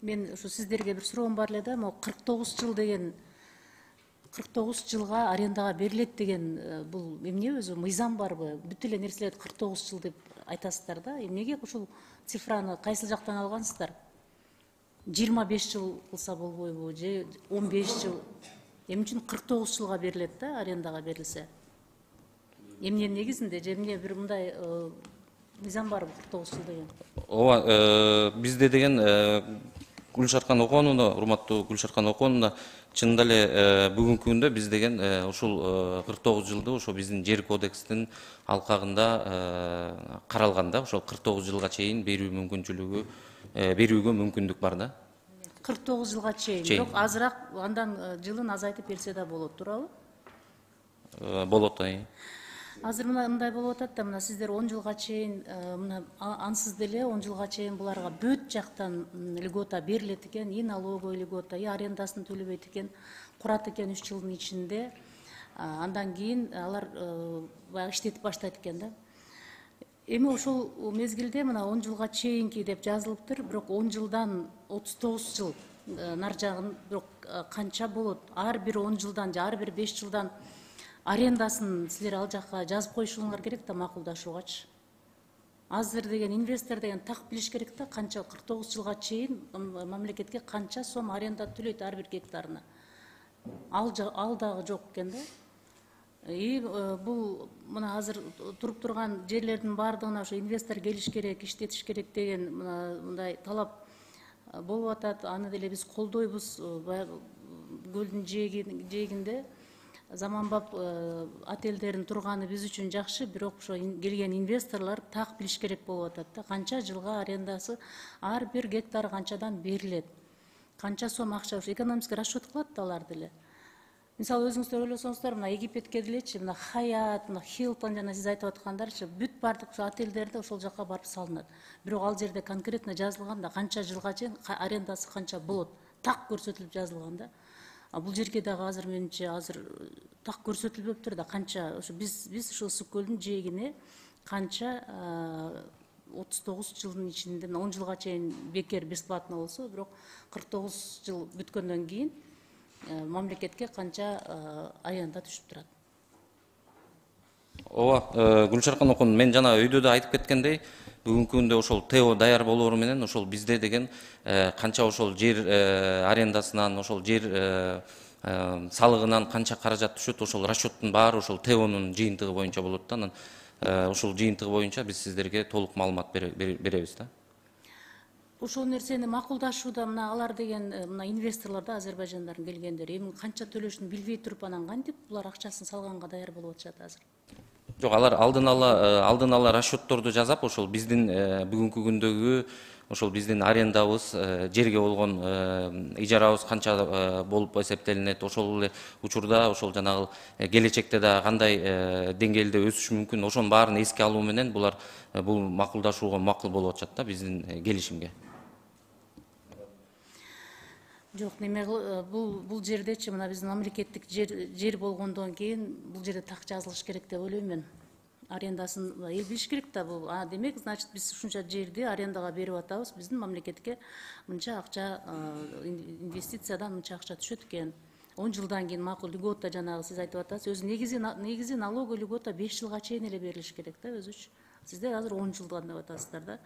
Мен ушу сиздерге бир суроом бар эле да, могу 49 жыл деген 49 жылга арендага берилет деген бул эмне өзү мыйзам барбы? Бүт эле нерселерди 49 жыл деп айтасыздар да. Эмнеге ушул цифраны кайсыл жактан алгансыздар? 25 жыл кылса болбойбу же 15 жыл? Эмне үчүн 49 жылга берилет да, арендага берилсе? Эмненин негизинде же эмне бир мындай мыйзам барбы 49 жыл деген? Ооба, бизде деген Гүлшаркан Оконовна, урматтуу Гүлшаркан Оконовна, чынында эле бүгүнкү күндө биз деген ушул 49 жылды ошо биздин жер кодекстин алкагында каралган да, ошол 49 жылга чейин берүү мүмкүнчүлүгү берүүгө мүмкүндүк бар да. 49 жылга чейин, бирок азыраак андан жылын азайтып берсе да болот, туурабы? Болот. Азыр мындай болуп атат да, мына сиздер 10 жылга чейин, мына ансыз деле 10 жылга чейин буларга бүт жактан льгота берилет экен, и налоговый льгота, и арендасын төлөбөйт экен, курат экен 3 жылдын ичинде. Андан кийин алар баягы иштетип баштайт экен да. Эми ошол мезгилде мына 10 жылга чейинки деп жазылыптыр, бирок 10 жылдан 39 жыл нар жагын бирок канча болот? Ар бир 10 жылдан же ар бир 5 жылдан арендасын силер ал жакка жазып коюшуңар керек да, макулдашуугачы. Азыр деген инвестор деген так билиш керек да, канча 49 жылга чейин мамлекетке канча сом аренда төлөйт ар бир гектарына. Ал дагы жок экен да. И бул мына азыр туруп турган жерлердин баардыгына ошо инвестор келиш керек, иштетиш керек деген мындай талап болуп атат. Аны деле биз колдойбуз. Көлдүн жээгинде заманбап отелдердин турганы биз үчүн жакшы, бирок ошо келген инвесторлор так билиш керек болуп атат да, канча жылга арендасы ар бир гектар канчадан берилет, канча сом акча, ошо экономический расчет кылат да алар деле. Мисалы өзүңүздөр ойлосоңуздар, мына Египетке делечи, мына Хаят, мына Хилтон жана сиз айтып аткандарчы, бүт бардык отелдерди ошол жака барып салынат. Бирок ал жерде конкретно жазылган да, канча жылга чейин арендасы канча болот, так көрсөтүлүп жазылган да. Бул жерге дагы азыр менимче азыр так көрсөтүлбөптүр да, канча ошо биз ушул Ысык көлдүн жээгине канча 39 жылдын ичинде 10 жылга чейин бекер бесплатно болсо, бирок 49 жыл бүткөндөн кийин мамлекетке канча аянда түшүп турат. Ооба, Гүлшаркан Окон, мен жана өйдө да айтып кеткендей, бүгүнкү күндө ошол ТО даяр болоору менен ошол бизде деген канча ошол жер арендасынан, ошол жер салыгынан канча каражат түшөт, ошол расчеттин баары ошол ТОнун жыйынтыгы боюнча болот да. Анан ушул жыйынтыгы боюнча биз сиздерге толук маалымат беребиз да. Ошол нерсени макулдашууда мына алар деген мына инвесторлор да Азербайжандардын келгендери эми канча төлөшүн билбей туруп анан кантип булар акчасын салганга даяр болуп атышат азыр? Жок, алар алдын ала расчетторду жасап, ошол биздин бүгүнкү күндөгү ошол биздин арендабыз, жерге болгон ижарабыз канча болуп эсептелинет, ошол эле учурда ошол жанагы келечекте да кандай деңгээлде өсүшү мүмкүн, ошонун баарын эске алуу менен булар бул макулдашууга макул болуп атышат да, биздин келишимге. Жок, неме бул жердечи мына биздин мамлекеттик жер болгондон кийин бул жерде так жазылыш керек деп ойлойм мен. Арендасын эл билиш керек да, бул демек, значит, биз ушунча жерди арендага берип атабыз, биздин мамлекетке мынча акча, инвестициядан мынча акча түшөт экен. 10 жылдан кийин макул льгота, жанагы сиз айтып атасыз, өзү негизи налоговый льгота 5 жылга чейин эле берилиш керек да өзүчү. Сиздер азыр 10 жылдан деп атасыздар да.